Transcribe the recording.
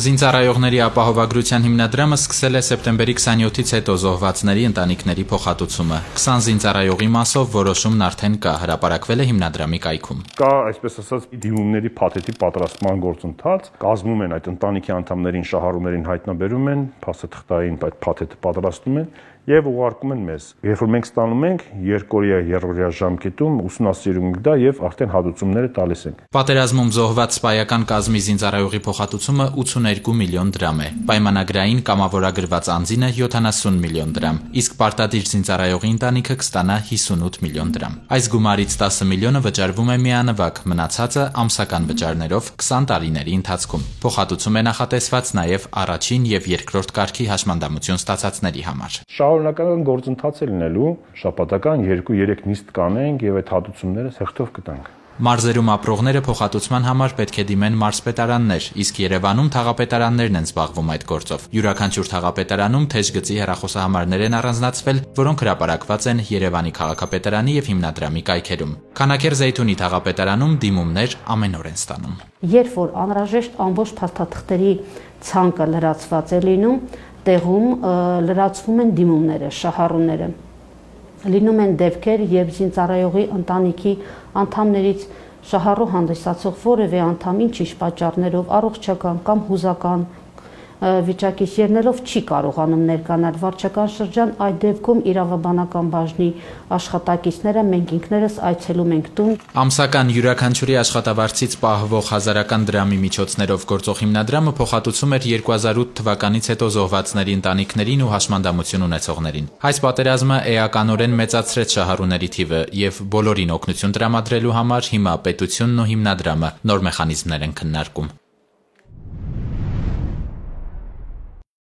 Զինծառայողների ապահովագրության հիմնադրամը սկսել է սեպտեմբերի 27-ից հետո զոհվածների ընտանիքների փոխհատուցումը։ 20 զինծառայողի մասով որոշումն արդեն կա, հրապարակվել է հիմնադրամի կայքում։ Կա, այսպես ասած, դիմումների փաթեթի պատրաստման գործընթաց, կազմում են այդ ընտանիքի անդամներին, շահառուներին հայտնաբերում են, փաստաթղթային այդ փաթեթը պատրաստում են եւ ուղարկում են մեզ։ Երբ որ մենք ստանում ենք, երկօրյա, երրորդյա ժամկետում ուսումնասիրում ենք դա եւ արդեն հատուցումները տալիս ենք։ Պատերազմում զոհված սպայական կազմի զինծառայողի փոխհատուցումը 82 միլիոն դրամ է։ Պայմանագրային կամավորագրված անձինը 70 միլիոն դրամ, իսկ պարտադիր զինծառայողի ընտանիքը կստանա 58 միլիոն դրամ։ Այս գումարից 10 միլիոնը վճարվում է միանվագ, մնացածը ամսական վճարներով 20 տարիների ընթացքում։ Փոխհատուցում է նախատեսված նաեւ առաջին եւ երկրորդ կարգի հաշմանդամություն ստացածների համար։ Շարունակական գործընթաց է լինելու, շաբաթական 2-3 նիստ կանենք եւ այդ հատուցումները սեղթով կտանք։ Մարզերում ապրողները փոխհատուցման համար պետք է դիմեն մարզպետարաններ, իսկ Երևանում թաղապետարաններն են զբաղվում այդ գործով։ Յուրաքանչյուր թաղապետարանում թեժգծի հեռախոսահամարներ են առանձնացվել, որոնք հրապարակված են Երևանի քաղաքապետարանի եւ հիմնադրամի կայքերում։ Քանաքեռ-Զեյթունի թաղապետարանում դիմումներ ամեն օր են ստանում։ Երբ որ անհրաժեշտ ամբողջ փաստաթղթերի ցանկը լրացված է լինում, տեղում լրացվում են դիմումները, շահառուները։ Լինում են դեպքեր, երբ զինծառայողի ընտանիքի անդամներից շահառու հանդիսացող որևէ անդամ ինչ-ինչ պատճառներով առողջական կամ հուզական վիճակից ելնելով չի կարողանում ներկայանալ վարչական շրջան, այդ դեպքում իրավաբանական բաժնի աշխատակիցները մենք ինքներս այցելում ենք տուն։ Ամսական յուրաքանչյուրի աշխատավարձից պահվող 1000 դրամի միջոցներով գործող հիմնադրամը փոխհատուցում էր 2008 թվականից հետո զոհվածների ընտանիքներին ու հաշմանդամություն ունեցողներին։ Այս պատերազմը էականորեն մեծացրեց շահառուների թիվը եւ բոլորին օգնություն տրամադրելու համար հիմա պետությունն ու հիմնադրամը նոր մեխանիզմներ են քննարկում։